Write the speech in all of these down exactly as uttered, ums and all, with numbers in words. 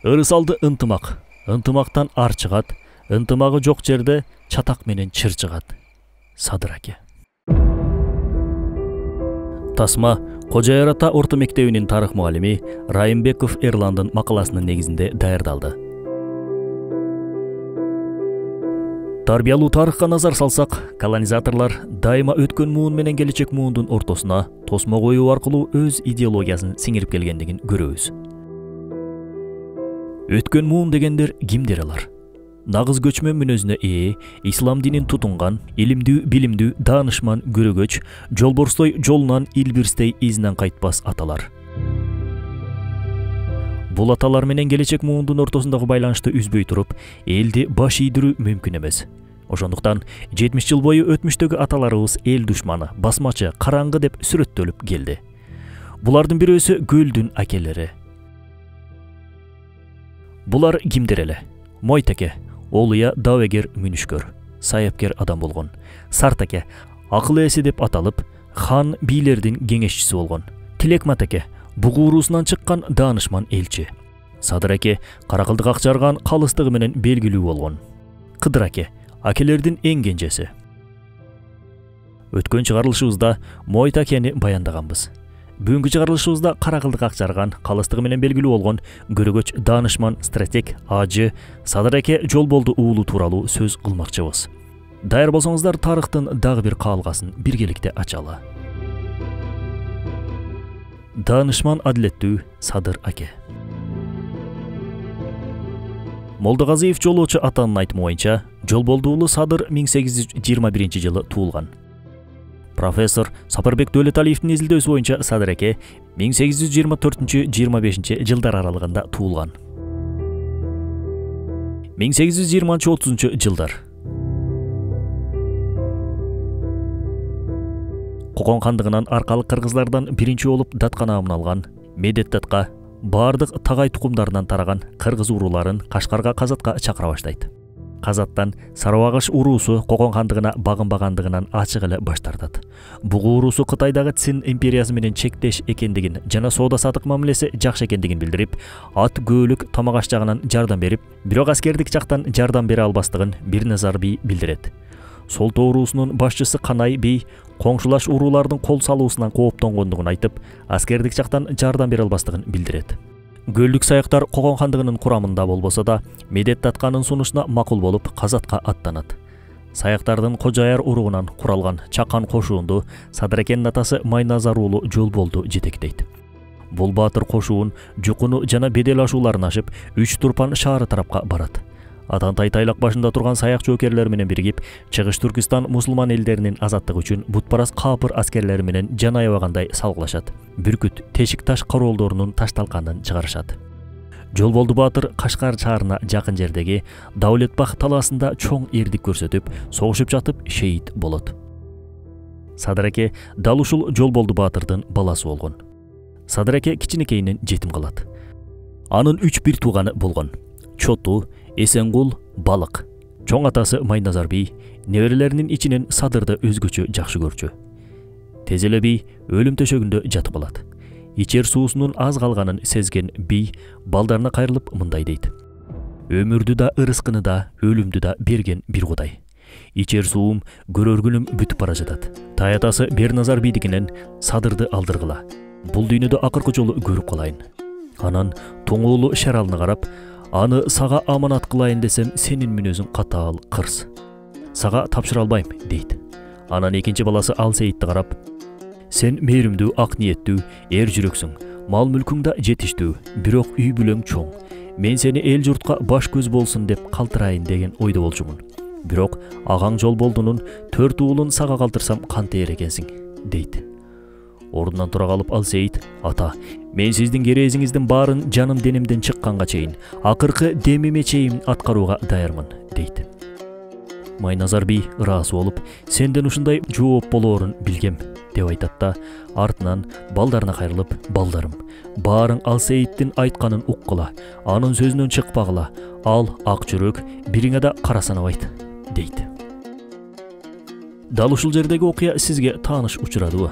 Ырысалды ынтымак, ынтымактан ар чыгат, ынтымагы жок жерде чатак менен чыр чыгат. Садыр аке. Тасма Кожояр ата орто мектебинин тарых мугалими Райымбеков Эрландын макаласынын негизинде даярдалды. Тарбиялуу тарыхка назар салсак, колонизаторлар дайыма өткөн муун менен келечек муундун ортосуна тосмо коюу аркылуу өз идеологиясын сиңирип келгендигин көрөбүз. Өткөн муун дегендер кимдер алар? Нагыз көчмөн мүнөзүнө ээ, ислам динин тутунган, илимдүү, билимдүү, даанышман, көрөгөч, жолборстой жолунан илбирстей изинен кайтпас аталар. Бул аталар менен келечек муундун ортосундагы байланышты үзбөй туруп, элди баш ийдирүү мүмкүн эмес. Ошондуктан жетимиш жыл бою өтмүштөгү аталарыбыз эл душманы, басмачы, караңгы деп сүрөттөлүп келди. Булардын бирөөсү Гөлдүн акелери. Булар кимдер эле? Мойтеке, Олуя давегер мүнүшкөр, саяпкер адам болгон. Сартаке, акыл ээси деп аталып, хан бийлердин кеңешчиси болгон. Тилекматеке, бугу уруусунан чыккан даанышман элчи. Садыр аке, каракылдык акчарган калыстыгы менен белгилүү болгон. Кыдыр аке, акелердин эң кенжеси. Өткөн чыгарылышыбызда Мойтакени баяндаганбыз. Бүгүнкү чыгарылышыбызда каракылдык акчарган, калыстыгы менен белгилүү болгон көрөгөч, даанышман, стратег, ажы Садыр аке Жолболду уулу тууралуу сөз кылмакчыбыз. Даяр болсоңуздар, тарыхтын дагы бир каалгасын биргеликте ачалы. Даанышман адилеттүү Садыр аке. Молдогазиев Жолоочу атанын айтымы боюнча, Жолболду уулу Садыр миң сегиз жүз жыйырма биринчи жылы туулган. Профессор Сапарбек Дөлөталиевдин изилдөөсү боюнча Садыр аке миң сегиз жүз жыйырма төртүнчү — жыйырма бешинчи жылдар аралыгында туулган. миң сегиз жүз жыйырманчы — отузунчу жылдар. Кокон хандыгынан аркалык кыргыздардан биринчи болуп датка наамын алган Медет датка бардык тагай тукумдарынан тараган кыргыз урууларын Кашкарга казатка чакыра баштайт. Казаттан Сарыбагыш уруусу Кокон хандыгына багынбагандыгынан ачык эле баш тартат. Бугу уруусу Кытайдагы Цин империясы менен чектеш экендигин жана соода сатык мамилеси жакшы экендигин билдирип, ат көөлүк тамак аш жагынан жардам берип, бирок аскердик жактан жардам бере албастыгын Бирназар бий билдирет. Солто уруусунун башчысы Канай бей коңшулаш уруулардын кол салуусунан кооптонгондугун айтып, аскердик жактан жардам бере албастыгын билдирет. Гөлдүк саяктар Кокон хандыгынын курамында болбосо да, Медет датканын сунушуна макул болуп казатка аттанат. Саяктардын Кожояр уругунан куралган чакан кошуунду Садыр акенин атасы Майназар уулу Жолболду жетектейт. Бул баатыр кошуун Жукуну жана Бедел ашууларын ашып, Үч Турпан шаары тарапка барат. Атантай тайлак башында турган саяк жоокерлер менен биригип, Чыгыш Түркистан мусулман элдеринин азаттыгы үчүн бутпарас каапыр аскерлери менен жан аябагандай салгылашат. Бүркүт, тешик таш короолдорунун ташталканын чыгарышат. Жолболду баатыр Кашкар шаарына жакын жердеги Даулетбах талаасында чоң эрдик көрсөтүп, согушуп жатып шейит болот. Садыр аке дал ушул Жолболду баатырдын баласы болгон. Садыр аке кичинекейинен жетим калат. Анын үч бир тууганы болгон. Чоту, Эсенгул, Балык. Чоң атасы Майназар бий неберелеринин ичинен Садырды өзгөчө жакшы көрчү. Тез эле бий өлүм төшөгүндө жатып алат. Ичер суусунун аз калганын сезген бий балдарына кайрылып мындай дейт: Өмүрдү да, ырыскыны да, өлүмдү да берген бир Кудай. Ичер суум, көрөр күнүм бүтүп бара жатат. Таятасы Берназар бийдикинен Садырды алдыргыла. Бул дүйнөдө акыркы жолу көрүп калайын. Анан тоңуулу Шаралына карап, аны сага аманат кылайын десем, сенин мүнөзүң катаал, кырс. Сага тапшыра албайм, дейт. Анан экинчи баласы Алсейитти карап, сен мээримдүү, ак ниеттүү, эр жүрөксүң, мал мүлкүң да жетиштүү, бирок үй бүлөң чоң. Мен сени эл журтка баш көз болсун деп калтырайын деген ойдо болчумун. Бирок агаң Жолболдунун төрт уулун сага калтырсам кантээр экенсиң, дейт. Ордунан тура калып Алсейит: Ата, мен сиздин керезиңиздин баарын жаным денемден чыкканга чейин, акыркы демиме чейин аткарууга даярмын, дейт. Майназар бий ыраазы болуп, сенден ушундай жооп болоорун билгем, деп айтат да, артынан балдарына кайрылып, балдарым, баарың Алсейиттин айтканын уккыла, анын сөзүнөн чыкпагыла, ал ак жүрөк, бириңе да кара санабайт, дейт. Дал ушул жердеги окуя сизге тааныш учурадыбы?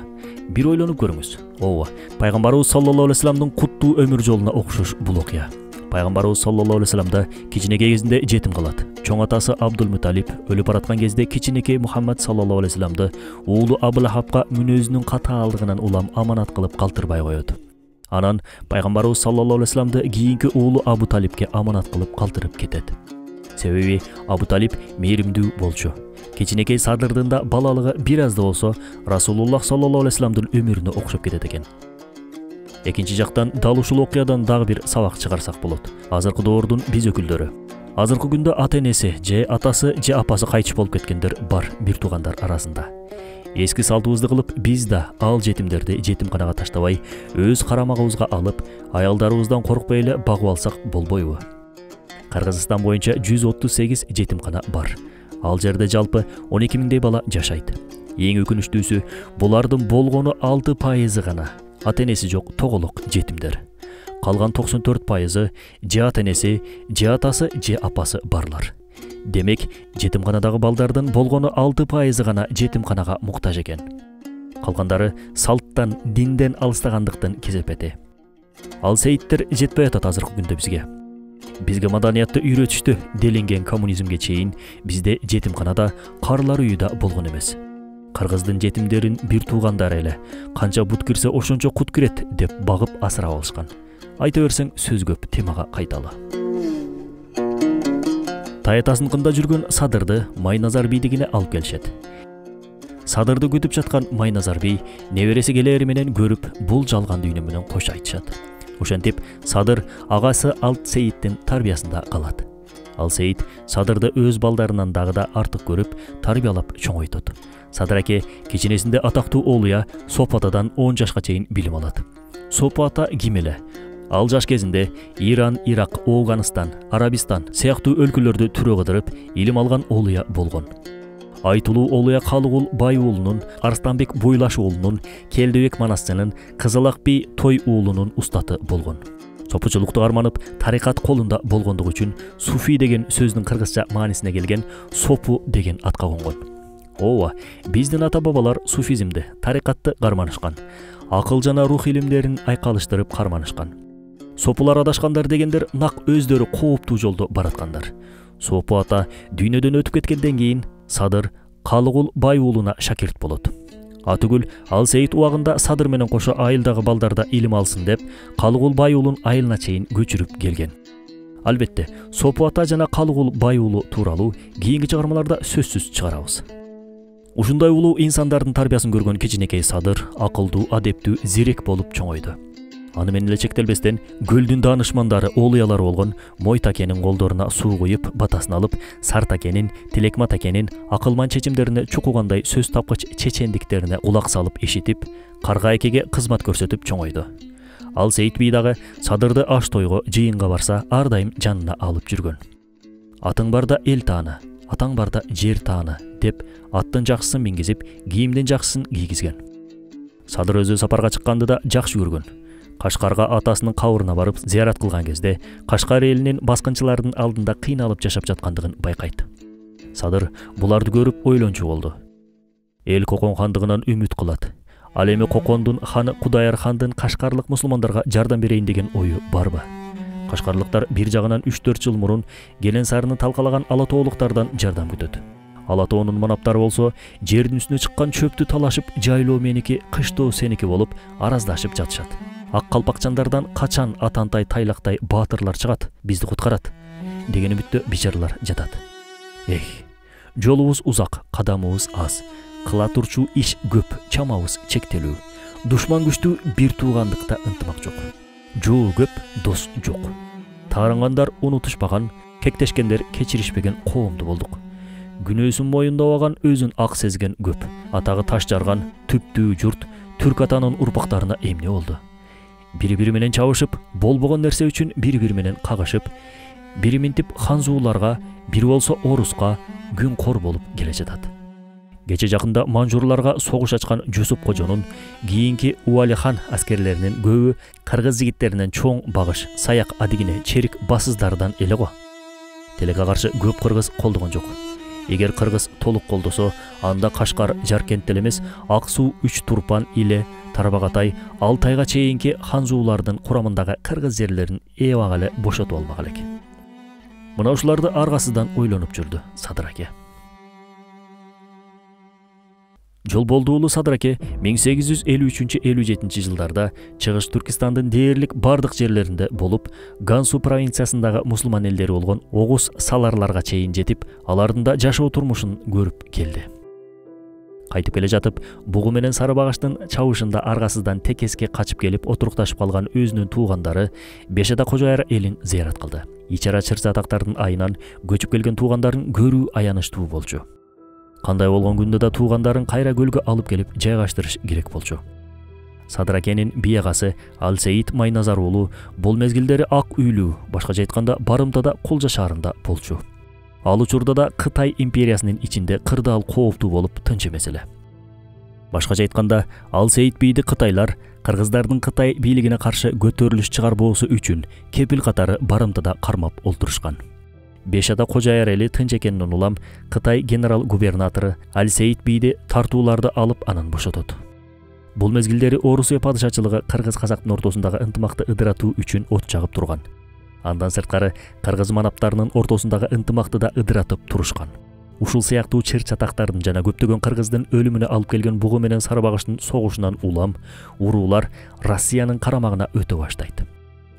Бир ойлонуп көрүңүз. Ооба, пайгамбарыбыз саллаллаху алейхи вассаламдын куттуу өмүр жолуна окшош бул окуя. Пайгамбарыбыз саллаллаху алейхи вассаламда кичинекей кезинде жетим калат. Чоң атасы Абдул-Муталип өлүп бараткан кезде кичинекей Мухаммад саллаллаху алейхи вассаламды уулу Абу-Лахабка мүнөзүнүн катаалдыгынан улам аманат кылып калтырбай коет. Анан Пайгамбарыбыз саллаллаху алейхи вассаламды кийинки уулу Абу Талипке аманат кылып калтырып кетет. Себеби Абу Талип мээримдүү болчу. Кичинекей Садырдын да балалыгы бир аз да болсо Расулуллах саллаллаху алейхи вассаламдын өмүрүнө окшоп кетет экен. Экинчи жактан дал ушул окуядан дагы бир сабак чыгарсак болот. Азыркы доордун биз өкүлдөрү. Азыркы күндө ата энеси, же атасы, же апасы кайтыш болуп кеткендер бар бир туугандар арасында. Эски салтыбызды кылып, биз да ал жетимдерди жетимканага таштабай, өз карамагыбызга алып, аялдарыбыздан коркпой эле багып алсак болбойбу? Кыргызстан боюнча жүз отуз сегиз жетимкана бар. Ал жерде жалпы он эки миңдей бала жашайт. Эң өкүнүчтүүсү, булардын болгону алты пайызы гана ата энеси жок тоголок жетимдер. Калган токсон төрт пайызы же ата энеси, же атасы, же апасы барлар. Демек, жетимканадагы балдардын болгону алты пайызы гана жетимканага муктаж экен. Калгандары салттан, динден алыстагандыктын кезепети. Ал сейиттер жетпей атат азыркы күндө бизге. Бизге маданиятты үйрөтүштү делинген коммунизмге чейин бизде жетимканада карлар үйү да болгон эмес. Кыргыздын жетимдерин бир туугандары эле канча бут кирсе ошончо кут кирет деп багып асырап алышкан. Айта берсең сөз көп, темага кайталы. Таятасынкында жүргөн Садырды Майназар бийдигине алып келишет. Садырды күтүп жаткан Майназар бий небереси келери менен көрүп, бул жалган дүйнө менен кош айтышат. Ошентип Садыр агасы Алт Сейиттин тарбиясында калат. Ал Сейит Садырды өз балдарынан дагы да артык көрүп, тарбиялап чоңойтот. Садыр аке кичинесинде атактуу оолуя Сопу атадан он жашка чейин билим алат. Сопу ата ким эле? Ал жаш кезинде Иран, Ирак, Афганистан, Арабистан сыяктуу өлкөлөрдү түрө кыдырып, илим алган оолуя болгон. Айтылуу оолуя Калыгул Бай уулунун, Арстанбек Буйлаш уулунун, Келдебек Манасчынын, Кызылак би Той уулунун устаты болгон. Сопучулукту арманып, тарикат колунда болгондугу үчүн суфи деген сөздүн кыргызча маанисине келген сопу деген атка конгон. Ооба, биздин ата-бабалар суфизмди, тарикатты карманышкан. Акыл жана рух илимдерин айкалыштырып карманышкан. Сопулар адашкандар дегендер нак өздөрү кооптуу жолдо бараткандар. Сопу ата дүйнөдөн өтүп кеткенден кийин Садыр Калыгул Бай уулуна шакирт болот. Атүгүл Ал Сейит убагында Садыр менен кошо айылдагы балдарда илим алсын деп, Калыгул Бай уулун айылына чейин көчүрүп келген. Албетте, Сопу ата жана Калыгул Бай уулу тууралуу кийинки чыгармаларда сөзсүз чыгарабыз. Ушундай улуу инсандардын тарбиясын көргөн кичинекей Садыр акылдуу, адептүү, зирек болуп чоңойду. Аны менен эле чектелбестен көлдүн даанышмандары, оолуялары болгон Мойт акенин колдоруна суу куюп, батасын алып, Сарт акенин, Тилекмат акенин акылман чечимдерине чукугандай сөз тапкыч чечендиктерине кулак салып ишитип, Карга акеге кызмат көрсөтүп чоңойду. Ал Сейит бий дагы Садырды аш тойго, жыйынга барса, ар дайым жанына алып жүргөн. Атың барда эл тааны, атаң барда жер тааны деп аттын жакшысын мингизип, кийимдин жакшысын кийгизген. Садыр өзү сапарга чыкканды да жакшы көргөн. Кашкарга атасынын кабырына барып зыярат кылган кезде Кашкар элинин баскынчылардын алдында кыйналып жашап жаткандыгын байкайт. Садыр буларды көрүп ойлончу болду. Эл Кокон хандыгынан үмүт кылат. Ал эми Кокондун ханы Кудаяр хандын кашкарлык мусулмандарга жардам берейин деген ою барбы? Кашкарлыктар бир жагынан үч төрт жыл мурун Келен Сарыны талкалаган Алатоолуктардан жардам күтөт. Алатоонун манаптары болсо жердин үстүнө чыккан чөптү талашып, жайлоо меники, кыштоо сеники болуп араздашып жатышат. Ак калпакчандардан качан Атантай Тайлактай баатырлар чыгат, бизди куткарат деген үмүттө бичарлар жатат. Эх, жолубуз узак, кадамыбыз аз. Кыла турчу иш көп, чамабыз чектелүү. Душман күчтүү, бир туугандыкта ынтымак жок. Жоо көп, дос жок. Таарынгандар унутушпаган, кектешкендер кечиришпеген коомду болдук. Күнөөсүн моюндабаган, өзүн ак сезген көп. Атагы таш жарган, түптүү журт түрк атанын урпактарына эмне болду? Бири-бири менен чабышып, болбогон нерсе үчүн бири-бири менен кагышып, бири минтип ханзууларга, бири болсо оруска күн кор болуп келе жатат. Кече жакында манжурларга согуш ачкан Жусуп кожонун кийинки Уали хан аскерлеринин көбү кыргыз жигиттеринен чоң багыш, саяк адигине черик басыздардан эле го. Тилекке каршы көп кыргыз колдогон жок. Эгер кыргыз толук колдосо, анда Кашкар Жаркент эле эмес, Ак суу, Үч Турпан, Иле, Тарбағатай Алтайга чейинки ханзуулардын курамындагы кыргыз жерлерин эбак эле бошотуп алмак элек. Мына ушуларды аргасыздан ойлонуп жүрдү Садыр аке. Жолболду уулу Садыр аке миң сегиз жүз элүү үчүнчү элүү жетинчи жылдарда Чыгыш Түркистандын дээрлик бардык жерлеринде болуп, Гансу провинциясындагы мусулман элдери болгон Огуз саларларга чейин жетип, алардын да жашоо турмушун көрүп келди. Кайтып келе жатып, бугу менен сары багаштын чабышында аргасыздан текеске качып келип отурукташып калган өзүнүн туугандары Бешада Кожояр элин зыярат кылды. Ичара чыр-чатактардын айынан көчүп келген туугандарын көрүү аянычтуу болчу. Кандай болгон күндө да туугандарын кайра көлгө алып келип жайгаштырыш керек болчу. Садыр акенин биягасы Алсейит Майназар уулу бул мезгилдери Ак үйлүү, башкача айтканда Барымтада Кулжа шаарында болчу. Ал учурда да Кытай империясынын ичинде кырдаал кооптуу болуп тынч эмес эле. Башкача айтканда, Алсейит бийди кытайлар кыргыздардын Кытай бийлигине каршы көтөрүлүш чыгарбоосу үчүн кепил катары Барымтада кармап олтурушкан. Бешада Кожояр эли тынч экенин улам Кытай генерал-губернатору Алсейит бийди тартууларды алып анан бошотот. Бул мезгилдери Орусия падышачылыгы кыргыз-казактын ортосундагы ынтымакты ыдыратуу үчүн от жагып турган. Андан сырткары кыргыз манаптарынын ортосундагы ынтымакты да ыдыратып турушкан. Ушул сыяктуу чыр-чатактардын жана көптөгөн кыргыздын өлүмүнө алып келген бугу менен сары багыштын согушунан улам уруулар Россиянын карамагына өтө баштайт.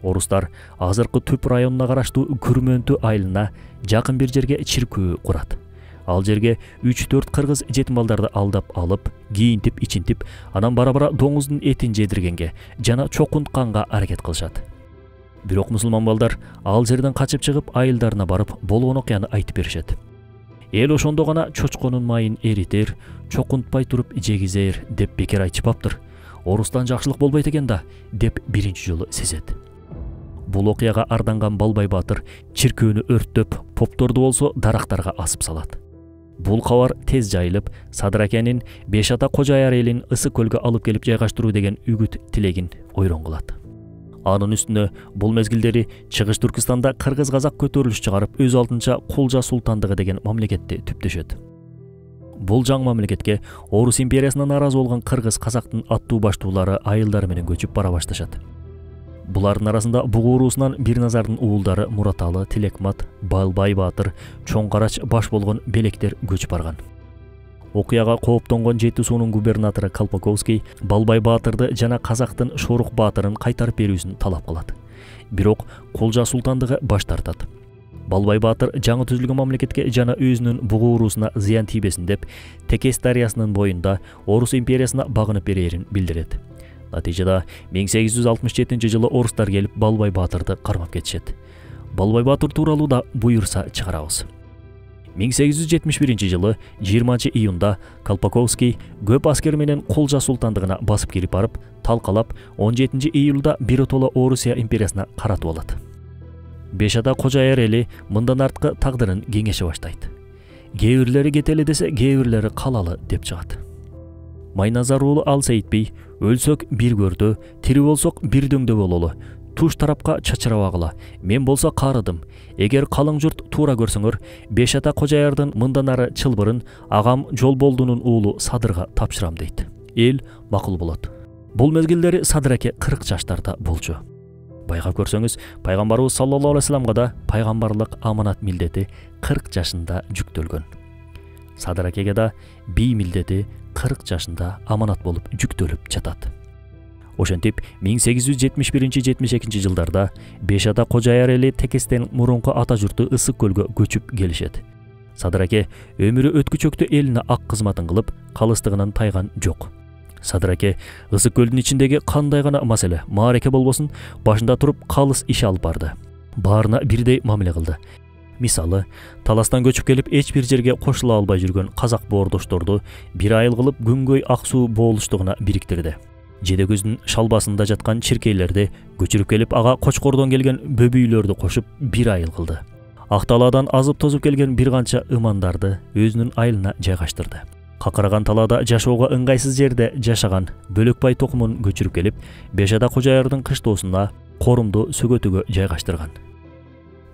Орустар азыркы Түп районуна караштуу Күрмөнтү айылына жакын бир жерге чиркөө курат. Ал жерге үч төрт кыргыз жетим балдарды алдап алып, кийинтип, ичинтип, анан бара-бара доңуздун этин жедиргенге жана чокунтканга аракет кылышат. Бирок мусулман балдар ал жерден качып чыгып, айылдарына барып, болгон окуяны айтып беришет. Эл ошондо гана чочконун майын эритер, чокунтпай туруп жегизер деп бекер айтышпаптыр. Орустан жакшылык болбойт экен да, деп биринчи жолу сезет. Бул окуяга арданган Балбай баатыр чиркөөнү өрттөп, попторду болсо дарактарга асып салат. Бул кабар тез жайылып, Садыр акенин Бешада Кожояр элин ысык көлгө алып келип жайгаштыруу деген үгүт тилегин ойрон кылат. Анын үстүнө бул мезгилдери Чыгыш Түркистанда кыргыз-казак көтөрүлүш чыгарып, өз алдынча Кулжа султандыгы деген мамлекетти түптөшөт. Бул жаңы мамлекетке Орус империясынан наразы болгон кыргыз-казактын аттуу баштуулары айылдары менен көчүп бара башташат. Булардын арасында Бугу уруусунан Бирназардын уулдары Мураталы, Тилекмат, Балбай баатыр, Чоң Карач баш болгон белектер көчүп барган. Окуяга кооптонгон Жети суунун губернатору Колпаковский Балбай баатырды жана казактын Шорук баатырын кайтарып берүүсүн талап кылат. Бирок Кулжа султандыгы баш тартат. Балбай баатыр жаңы түзүлгөн мамлекетке жана өзүнүн Бугу уруусуна зыян тийбесин деп Текес дарыясынын боюнда Орус империясына багынып берерин билдирет. Натыйжада миң сегиз жүз алтымыш жетинчи жылы орустар келип Балбай баатырды кармап кетишет. Балбай баатыр тууралуу да буйрса чыгарабыз. миң сегиз жүз жетимиш биринчи жылы жыйырманчы июнда Колпаковский көп аскер менен Кулжа султандыгына басып кирип барып, талкалап он жетинчи июлда биротоло Орусия империясына каратып алат. Бешада Кожояр эли мындан арткы тагдырын кеңеше баштайт. Кээ бирлери кетели десе, кээ бирлери калалы деп чыгат. Майназар уулу Алсейит бей өлсөк бир көрдө, тири болсок бир дөңдө бололу. Туш тарапка чачырабагыла. Мен болсо карыдым. Эгер калың журт туура көрсөңөр, Бешада Кожоярдын мындан ары чылбырын агам Жолболдунун уулу Садырга тапшырам дейт. Эл макул болот. Бул мезгилдери Садыр аке кырк жаштарда болчу. Байгап көрсөңүз, пайгамбарыбыз саллаллаху алейхи вассаламга да пайгамбарлык аманат милдети кырк жашында жүктөлгөн. Садыр акеге да бий милдети кырк жашында аманат болуп жүктөлүп жатат. Ошентип миң сегиз жүз жетимиш биринчи — жетимиш экинчи жылдарда Бешада Кожояр эли Текестен мурунку ата журту Ысык көлгө көчүп келишет. Садыр аке өмүрү өткүчөктө элине ак кызматын кылып, калыстыгынан тайган жок. Садыр аке Ысык көлдүн ичиндеги кандай гана маселе, маареке болбосун, башында туруп калыс иш алып барды. Баарына бирдей мамиле кылды. Мисалы, таластан көчүп келип эч бир жерге кошула албай жүргөн казак боордошторду бир айыл кылып Күнгөй Ак суу боолуштугуна бириктирди. Жедекөздүн шалбасында жаткан чиркейлерди көчүрүп келип, ага Кочкордон келген бөбүйлөрдү кошуп бир айыл кылды. Ак талаадан азып тозуп келген бир канча ымандарды өзүнүн айылына жайгаштырды. Какыраган талаада жашоого ыңгайсыз жерде жашаган Бөлөкбай токумун көчүрүп келип, Бешада Кожоярдын кыштоосуна Корумду Сөгөтүгө жайгаштырган.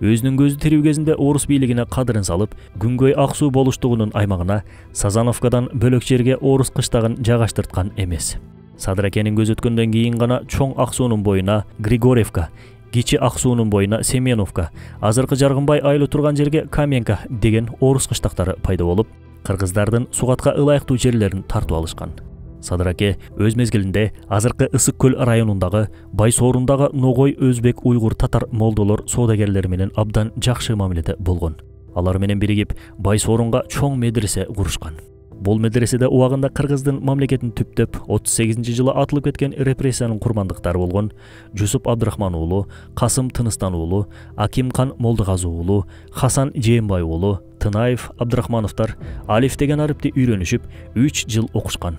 Өзүнүн көзү тирүү кезинде орус бийлигине кадырын салып, Күнгөй Ак суу болуштугунун аймагына Сазановкадан бөлөк жерге орус кыштагын жайгаштырткан эмес. Садракенин көз өткөндөн кийин гана чоң ак суунун боюна Григорьевка, кичи ак суунун боюна Семеновка, азыркы Жаргынбай айылы турган жерге Каменка деген орус кыштактары пайда болуп, кыргыздардын сугатка ылайыктуу жерлерин тартып алышкан. Садыраке өз мезгилинде азыркы Ысык көл районундагы Байсоорундагы Ногой, Өзбек, Уйгур, татар молдолор, соодагерлери менен абдан жакшы мамиледе болгон. Алар менен биригип Байсоорунга чоң медресе курушкан. Бул медреседе убагында кыргыздын мамлекетин түптөп отуз сегизинчи жылы атылып кеткен репрессиянын курмандыктары болгон Жусуп Абдрахман уулу, Касым Тыныстан уулу, Акимхан Молдогазы уулу, Хасан Жээнбай уулу, Тынаев, Абдрахмановтар алиф деген арипти үйрөнүшүп үч жыл окушкан.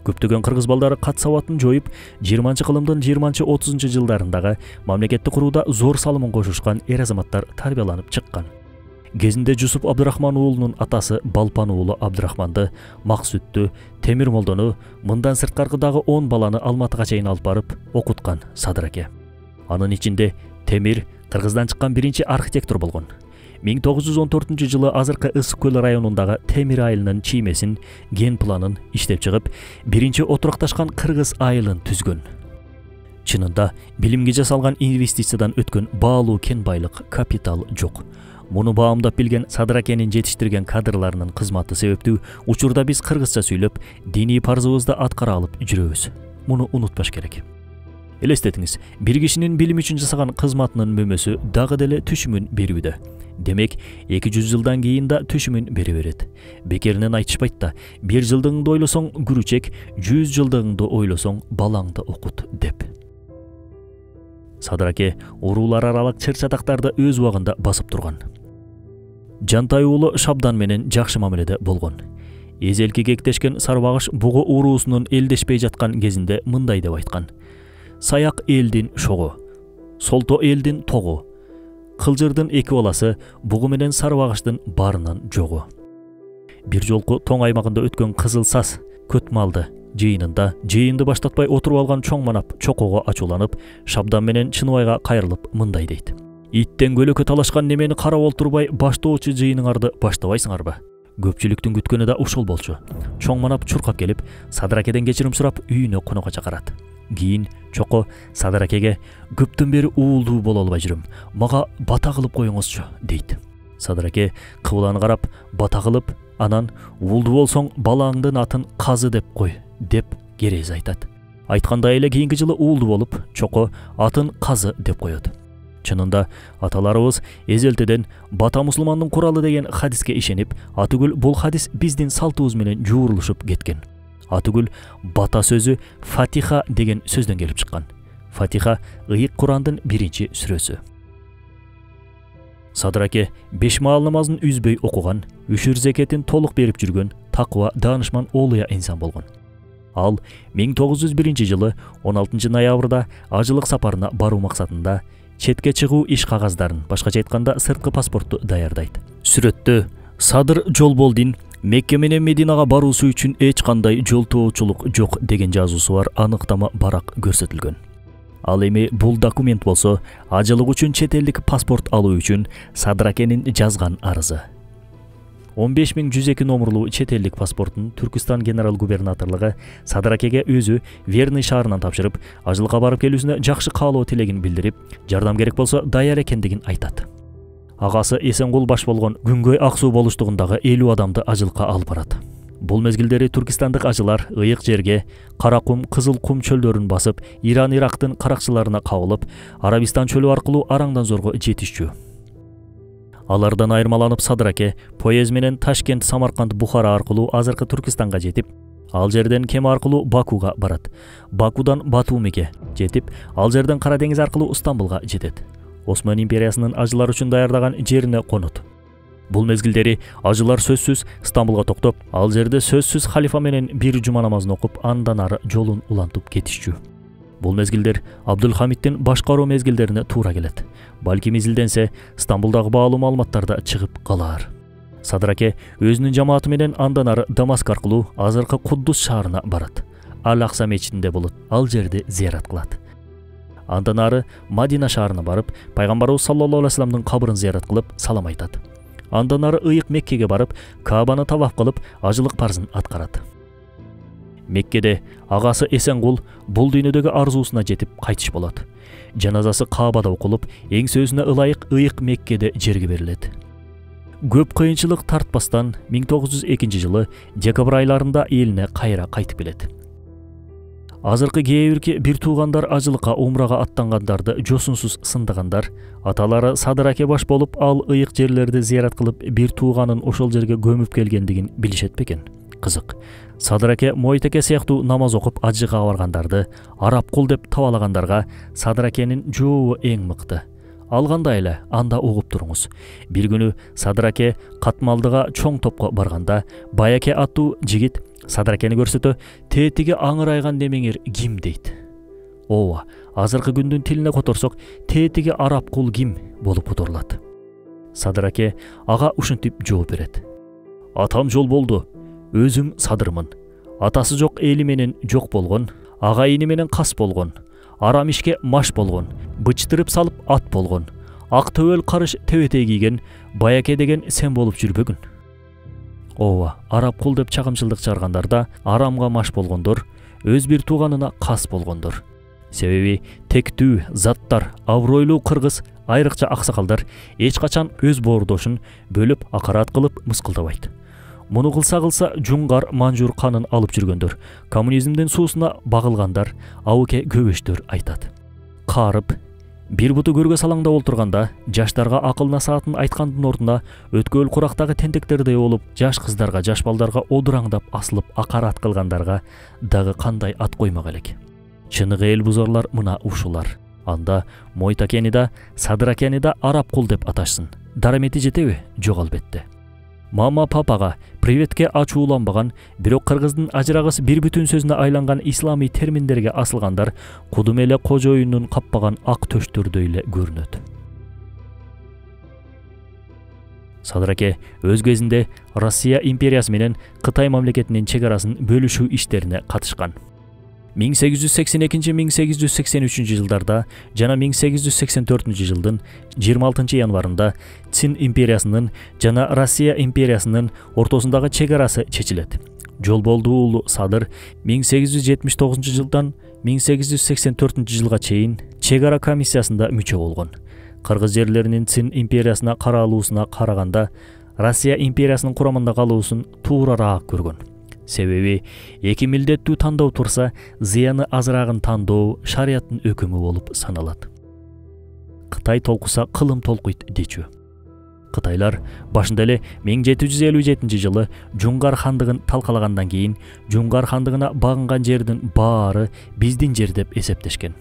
Көптөгөн кыргыз балдары кат сабатын жоюп, жыйырманчы кылымдын жыйырманчы отузунчу жылдарындагы мамлекетти курууда зор салымын кошушкан эр азаматтар тарбияланып чыккан. Кезинде Жусуп Абдрахман уулунун атасы Балпан уулу Абдрахманды, Максүттү, Темир Молдону, мындан сырткаркы дагы он баланы Алматыга чейин алып барып окуткан Садыраке. Анын ичинде Темир Кыргыздан чыккан биринчи архитектор болгон. миң тогуз жүз он төртүнчү жылы азыркы Ысык көл районундагы Темир айылынын чиймесин, ген планын иштеп чыгып, биринчи отурукташкан кыргыз айылын түзгөн. Чынында билимге жасалган инвестициядан өткөн баалуу кен байлык, капитал жок. Муну баамдап билген Садракенин жетиштирген кадрларынын кызматы себептүү учурда биз кыргызча сүйлөп, диний парзыбызды аткара алып жүрөбүз. Муну унутпаш керек. Элестетиңиз, бир кишинин билим үчүн жасаган кызматынын мөмөсү дагы деле түшүмүн берүүдө. Демек, эки жүз жылдан кийин да түшүмүн бере берет. Бекеринен айтышпайт да, бир жылдыгыңды ойлосоң күрүчек, жүз жылдыгыңды ойлосоң балаңды окут деп. Садыраке уруулар аралык чыр-чатактарды өз убагында басып турган. Жантай уулу Шабдан менен жакшы мамиледе болгон. Эзелки кектешкен Сарбагыш бугу уруусунун элдешпей жаткан кезинде мындай деп айткан: "Саяк элдин шогу, солто элдин тогу. Кылжырдын эки баласы бугу менен Сарбагыштын барынан жогу." Бир жолку тоң аймагында өткөн Кызыл Саз көт малды жыйынында жыйынды баштатпай отуруп алган чоң манап чокого ачууланып, Шабдан менен Чыныбайга кайрылып мындай дейт: "Иттен көлөкө талашкан немени карап олтурбай баштоочу жыйыныңарды баштабайсыңарбы?" Көпчүлүктүн күткөнү да ушул болчу. Чоң манап чуркап келип, Садракеден кечирим сурап, үйүнө конокко чакырат. Кийин чоко Садракеге: "Көптөн бери уулдуу боло албай жүрөм. Мага бата кылып коюңузчу" дейт. Садыраке кыбыланы карап, бата кылып, анан "Уулдуу болсоң балаңдын атын Казы деп кой" деп керез айтат. Айткандай эле кийинки жылы уулдуу болуп, чоко атын Казы деп коет. Чынында аталарыбыз эзелтеден бата мусулмандын куралы деген хадиске ишенип, атүгүл бул хадис биздин салтыбыз менен жуурулушуп кеткен. Атүгүл бата сөзү Фатиха деген сөздөн келип чыккан. Фатиха ыйык Курандын биринчи сүрөсү. Садыраке беш маал намазын үзбөй окуган, үшүр зекетин толук берип жүргөн, такыба даанышман олуя инсан болгон. Ал миң тогуз жүз биринчи жылы он алтынчы ноябрда ажылык сапарына баруу максатында четке чыгуу иш кагаздарын, башкача айтканда сырткы паспортту даярдайт. Сүрөттө Садыр Жолболдин Мекке менен Мединага баруусу үчүн эч кандай жолтоочулук жок деген жазуусу бар аныктама барак көрсөтүлгөн. Ал эми бул документ болсо, ажылык үчүн чет элдик паспорт алуу үчүн Садракенин жазган арызы. он беш миң жүз эки номерлуу чет элдик паспортун Түркистан генерал губернаторлугу Садракеге өзү Верный шаарынан тапшырып, ажылыкка барып келүүсүнө жакшы каалоо тилегин билдирип, жардам керек болсо даяр экендигин айтат. Агасы Эсенгул баш болгон Күнгөй Ак Суу болуштугундагы элүү адамды ажылыкка алып барат. Бул мезгилдери түркистандык ажылар ыйык жерге Каракум, Кызыл кум чөлдөрүн басып, Иран Ирактын каракчыларына кабылып, Арабистан чөлү аркылуу Араңдан зорго жетишчү. Алардан айырмаланып Садыраке поезд менен Ташкент, Самарканд, Бухара аркылуу азыркы Түркистанга жетип, ал жерден кеме аркылуу Бакуга барат. Бакудан Батумиге жетип, ал жерден Кара деңиз аркылуу Стамбулга жетет. Осман империясынын ажылар үчүн даярдаган жерине конот. Бул мезгилдери ажылар сөзсүз Стамбулга токтоп, ал жерде сөзсүз халифа менен бир жума намазын окуп, андан ары жолун улантып кетишчү. Бул мезгилдер Абдулхамиттин башкаруу мезгилдерине туура келет. Балким изилденсе, Стамбулдагы баалуу маалыматтарда чыгып калар. Садыраке өзүнүн жамааты менен андан ары Дамаск аркылуу азыркы Куддус шаарына барат. Ал-Акса мечитинде болот, ал жерди зыярат кылат. Андан ары Мадина шаарына барып, пайгамбарыбыз саллаллаху алейхи вассаламдын кабырын зыярат кылып, салам айтат. Андан ары ыйык Меккеге барып, Каабаны таваф кылып, ажылык парзын аткарат. Меккеде агасы Эсенгул бул дүйнөдөгү арзуусуна жетип кайтыш болот. Жаназасы Каабада окулуп, эң-сөзүнө ылайык ыйык Меккеде жерге берилет. Көп кыйынчылык тартпастан миң тогуз жүз экинчи жылы декабрь айларында элине кайра кайтып келет. Азыркы кээ бирки бир туугандар ажылыкка умрага аттангандарды жосунсуз сындыгандар, аталары Садыраке баш болуп, ал ыйык жерлерди зыярат кылып, бир тууганын ошол жерге көмүп келгендигин билишет бекен? Кызык. Садыраке Мойтеке сыяктуу намаз окуп ажыга баргандарды, Арапкул деп табалагандарга Садыракенин жообу эң мыкты. Ал кандай эле, анда угуп туруңуз. Бир күнү Садыраке Катмалдыга чоң топко барганда, Баяке аттуу жигит Садыракени көрсөтө, "Тетиги аңырайган немеңер ким?" дейт. Ооба, азыркы күндүн тилине которсок, тетиги Арапкул ким болуп которулат. Садыраке ага ушинтип жооп берет. "Атам жол болду. Өзүм Садырмын. Атасы жок эли менен жок болгон, агайыны менен кас болгон, арам ишке маш болгон, бычтырып салып ат болгон, ак төбөл карыш тебетей кийген Баяке деген сен болуп жүрбөгүн." Ооба, Арапкул деп чагымчылдык чыгаргандарда арамга маш болгондор, өз бир тууганына кас болгондор. Себеби тектүү, заттар, абройлуу кыргыз, айрыкча аксакалдар эч качан өз боордошун бөлүп акарат кылып мыскылдабайт. Муну кылса кылса жуңгар манжур канын алып жүргөндөр, коммунизмдин суусуна багылгандар, абыке көбөштөр айтат. Карып, бир буту көргө салаңдап олтурганда, жаштарга акыл насаатын айткандын ордуна өткөл курактагы тентектердей болуп, жаш кыздарга, жаш балдарга одураңдап асылып акарат кылгандарга дагы кандай ат коймок элек. Чыныгы эл бузарлар мына ушулар. Анда Мойтакени да, Садыракени да Арапкул деп аташсын. Дарамети жетеби? Жок албетте. Мама папага приветке ачууланбаган, бирок кыргыздын ажырагыс бир бүтүн сөзүнө айланган исламий терминдерге асылгандар кудум эле кожоюндун каппаган ак төштөрдөй эле көрүнөт. Садыраке өз кезинде Россия империясы менен Кытай мамлекетинин чек арасын бөлүшүү иштерине катышкан. миң сегиз жүз сексен экинчи - миң сегиз жүз сексен үчүнчү жылдарда жана миң сегиз жүз сексен төртүнчү жылдын жыйырма алтынчы январында Цин империясынын жана Россия империясынын ортосундагы чек арасы чечилет. Жолболду уулу Садыр миң сегиз жүз жетимиш тогузунчу жылдан миң сегиз жүз сексен төртүнчү жылга чейин чек ара комиссиясында мүчө болгон. Кыргыз жерлеринин Цин империясына каралуусуна караганда Россия империясынын курамында калуусун туурараак көргөн. Себеби эки милдеттүү тандоо турса, зыяны азырагын тандоо шарияттын өкүмү болуп саналат. Кытай толкуса кылым толкуйт дечү. Кытайлар башында эле миң жети жүз элүү жетинчи жылы Жуңгар хандыгын талкалагандан кийин Жуңгар хандыгына багынган жердин баары биздин жер деп эсептешкен.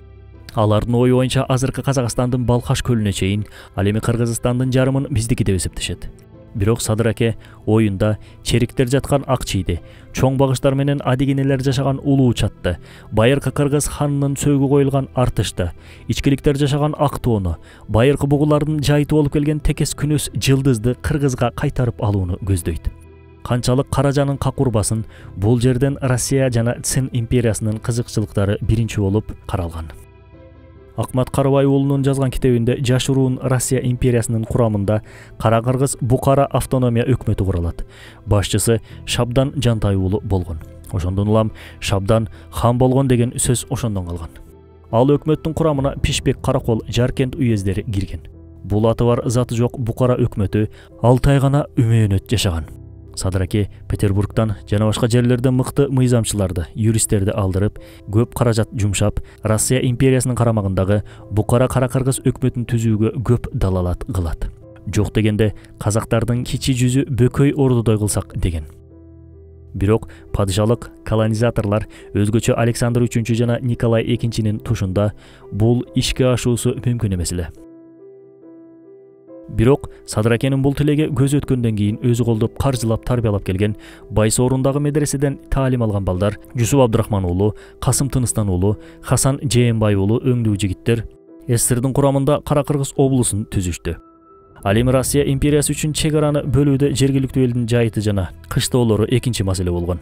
Алардын ою боюнча азыркы Казакстандын Балкаш көлүнө чейин, ал эми Кыргызстандын жарымын биздики деп эсептешет. Бирок Садыраке оюнда чериктер жаткан ак чийди, чоң багыштар менен адигенелер жашаган улуу чатты, байыркы кыргыз ханынын сөөгү коюлган артышты, ичкиликтер жашаган ак тоону, байыркы бугулардын жайыты болуп келген текес күнөс жылдызды кыргызга кайтарып алууну көздөйт. Канчалык Каражанын какурбасын бул жерден Россия жана Цин империясынын кызыкчылыктары биринчи болуп каралган. Акмат Карыбай уулунун жазган китебинде жашыруун Россия империясынын курамында Кара Кыргыз Букара автономия өкмөтү куралат. Башчысы Шабдан Жантай уулу болгон. Ошондон улам Шабдан хан болгон деген сөз ошондон калган. Ал өкмөттүн курамына Пишпек, Каракол, Жаркент уездери кирген. Бул аты бар заты жок Букара өкмөтү алты ай гана үмөөнөт жашаган. Садыраке Петербургдан жана башка жерлерден мыкты мыйзамчыларды, юристтерди алдырып, көп каражат жумшап, Россия империясынын карамагындагы Букара Кара Кыргыз өкмөтүн түзүүгө көп далалат кылат. Жок дегенде казактардын кичи жүзү бөкөй ордудой кылсак деген. Бирок падышалык колонизаторлор өзгөчө Александр үчүнчү жана Николай экинчинин тушунда бул ишке ашуусу мүмкүн эмес эле. Бирок Садыракенин бул тилеге көз өткөндөн кийин өзү колдоп каржылап тарбиялап келген Байсоорундагы медреседен таалим алган балдар Жусуп Абдырахман уулу, Касым Тыныстан уулу, Хасан Жээнбай уулу өңдүү жигиттер СССРдин курамында Кара Кыргыз облусун түзүштү. Ал эми Россия империясы үчүн чек араны бөлүүдө жергиликтүү элдин жайыты жана кыштоолору экинчи маселе болгон.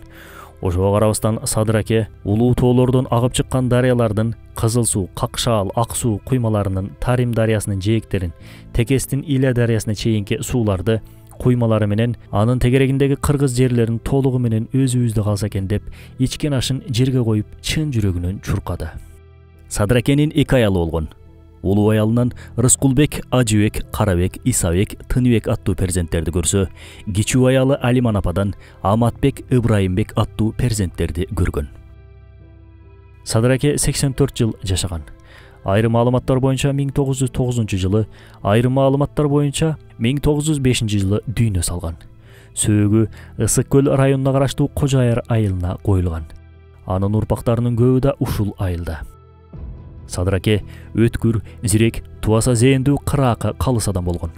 Ошого карабастан Садыраке улуу тоолордон агып чыккан дарыялардын Кызыл суу, Какшаал, Ак суу куймаларынын Тарим дарыясынын жээктерин, Текестин Иля дарыясына чейинки сууларды куймалары менен анын тегерегиндеги кыргыз жерлерин толугу менен өзүбүздө калса экен деп ичкен ашын жерге коюп чын жүрөгүнөн чуркады. Садыракенин эки аялы болгон. Улуу аялынан Рыскулбек, Ажыбек, Карабек, Исабек, Тыныбек аттуу перзенттерди көрсө, кичүү аялы Алиман ападан Аматбек, Ыбрайымбек аттуу перзенттерди көргөн. Садыраке сексен төрт жыл жашаган. Айрым маалыматтар боюнча миң тогуз жүз тогузунчу жылы, айрым маалыматтар боюнча миң тогуз жүз бешинчи жылы дүйнө салган. Сөөгү Ысык көл районуна караштуу Кожо Аяр айылына коюлган. Анын урпактарынын көбү да ушул айылда. Садыраке өткүр, зирек, тубаса зээндүү, кыраакы, калыс адам болгон.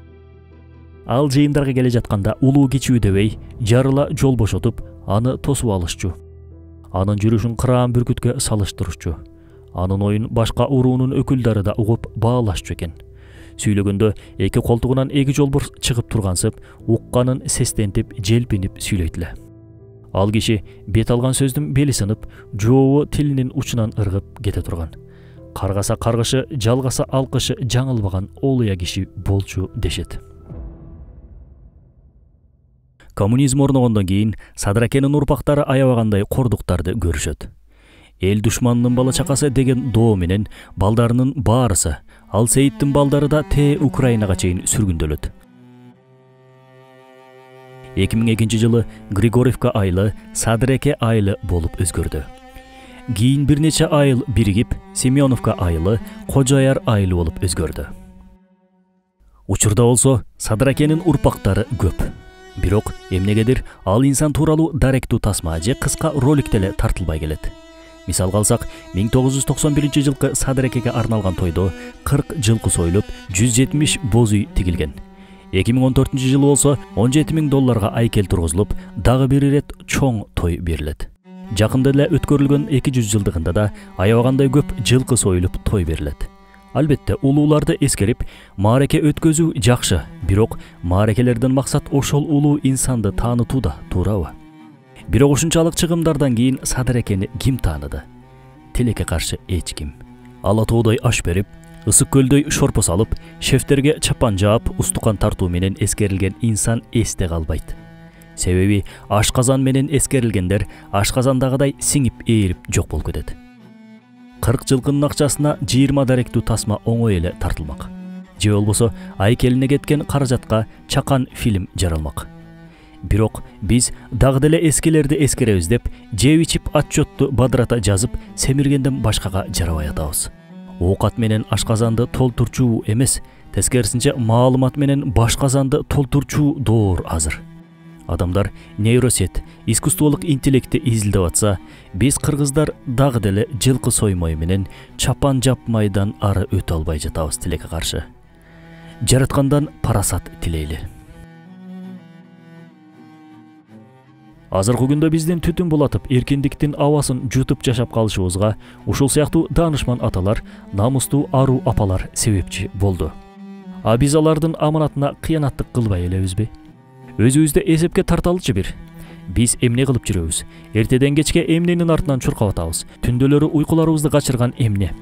Ал жыйындарга келе жатканда улуу кичүү дебей, жарыла жол бошотуп, аны тосуп алышчу. Анын жүрүшүн кыраан бүркүткө салыштырышчу. Анын оюн башка уруунун өкүлдөрү да угуп баалашчу экен. Сүйлөгөндө эки колтугунан эки жолбор чыгып тургансып, укканын сестентип, желпинип сүйлөйт эле. Ал киши бет алган сөздүн бели сынып, жообу тилинин учунан ыргып кете турган. Каргаса каргышы, жалгаса алкышы жаңылбаган олуя киши болчу дешет. Коммунизм орногондон кийин Садыракенин урпактары аябагандай кордуктарды көрүшөт. Эл душманынын бала чакасы деген доо менен балдарынын баарысы, ал Сейиттин балдары да те Украинага чейин сүргүндөлөт. эки миң экинчи жылы Григорьевка айылы Садыраке айылы болуп өзгөрдү. Кийин бир нече айыл биригип Семеновка айылы Кожо Аяр айылы болуп өзгөрдү. Учурда болсо Садыракенин урпактары көп. Бирок эмнегедир ал инсан тууралуу даректүү тасма же кыска ролик деле тартылбай келет. Мисалга алсак, миң тогуз жүз токсон биринчи жылкы Садыракеге арналган тойдо кырк жылкы союлуп, жүз жетимиш боз үй тигилген. эки миң он төртүнчү жылы болсо он жети миң долларга айкел тургузулуп, дагы бир ирет чоң той берилет. Жакында эле өткөрүлгөн эки жүз жылдыгында да аябагандай көп жылкы союлуп той берилет. Албетте, улууларды эскерип, маареке өткөзүү жакшы, бирок маарекелерден максат ошол улуу инсанды таанытууда, туурабы? Бирок ушунчалык чыгымдардан кийин Садыракени ким тааныды? Тилекке каршы эч ким. Ала тоодой аш берип, ысык көлдөй шорпо салып, шефтерге чапан жаап, устукан тартуу менен эскерилген инсан эсте калбайт. Себеби ашказан менен эскерилгендер ашказандагыдай сиңип ээрип жок болуп кетет. кырк жылкынын акчасына жыйырма даректүү тасма оңой эле тартылмак. Же болбосо айкелине кеткен каражатка чакан фильм жаралмак. Бирок биз дагы деле эскилерди эскеребиз деп, жеп ичип отчетту бадырата жазып, семиргенден башкага жарабай атабыз. Оокат менен ашказанды толтурчу эмес, тескерисинче маалымат менен башказанды толтурчу доор азыр. Адамдар нейросет, искусстволук интеллектти изилдеп атса, биз кыргыздар дагы деле жылкы соймой менен чапан жапмайдан ары өтө албай жатабыз тилекке каршы. Жараткандан парасат тилейли. Азыркы күндө биздин түтүн булатып, эркиндиктин абасын жутуп жашап калышыбызга ушул сыяктуу даанышман аталар, намустуу аруу апалар себепчи болду. А биз алардын аманатына кыянаттык кылбай элебизби? Өзүбүздү эсепке тарталычы бир. Биз эмне кылып жүрөбүз? Эртеден кечке эмненин артынан чуркап атабыз? Түндөлөрү уйкуларыбызды качырган эмне?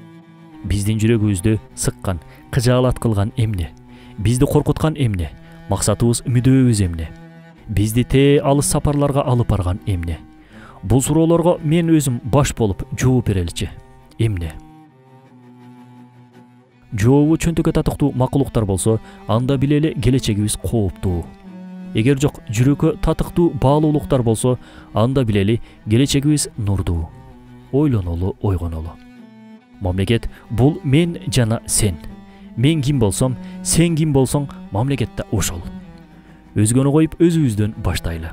Биздин жүрөгүбүздү сыккан, кыжаалат кылган эмне? Бизди коркуткан эмне? Максатыбыз, мүдөөбүз эмне? Бизди те алыс сапарларга алып барган эмне? Бул суроолорго мен өзүм баш болуп жооп береличи. Эмне? Жообу чөнтөккө татыктуу макулуктар болсо, анда билели келечегибиз кооптуу. Эгер жок, жүрөккө татыктуу баалуулуктар болсо, анда билели келечегибиз нурдуу. Ойлонолу, ойгонолу. Мамлекет бул мен жана сен. Мен ким болсом, сен ким болсоң, мамлекет да ошол. Өзгөнү коюп өзүбүздөн баштайлы.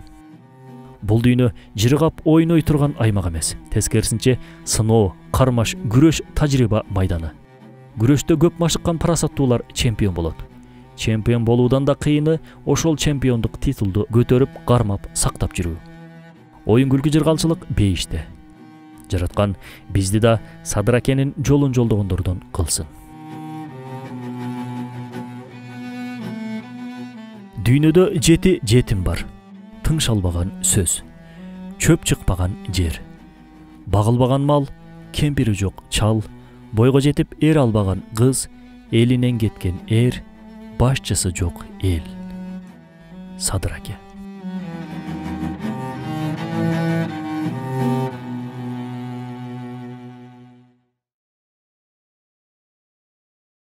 Бул дүйнө жыргап ойной турган аймак эмес. Тескерисинче сыноо, кармаш, күрөш тажрыйба майданы. Күрөштө көп машыккан парасаттуулар чемпион болот. Чемпион болуудан да кыйыны ошол чемпиондук титулду көтөрүп, кармап, сактап жүрүү. Оюн күлкү жыргалчылык бейиште. Жараткан бизди да Садыракенин жолун жолдогондордон кылсын. Дүйнөдө жети жетим бар. Тыңшалбаган сөз. Чөп чыкпаган жер. Багылбаган мал, кемпири жок чал, бойго жетип эр албаган кыз, элинен кеткен эр, башчысы жок эл. Садыр аке.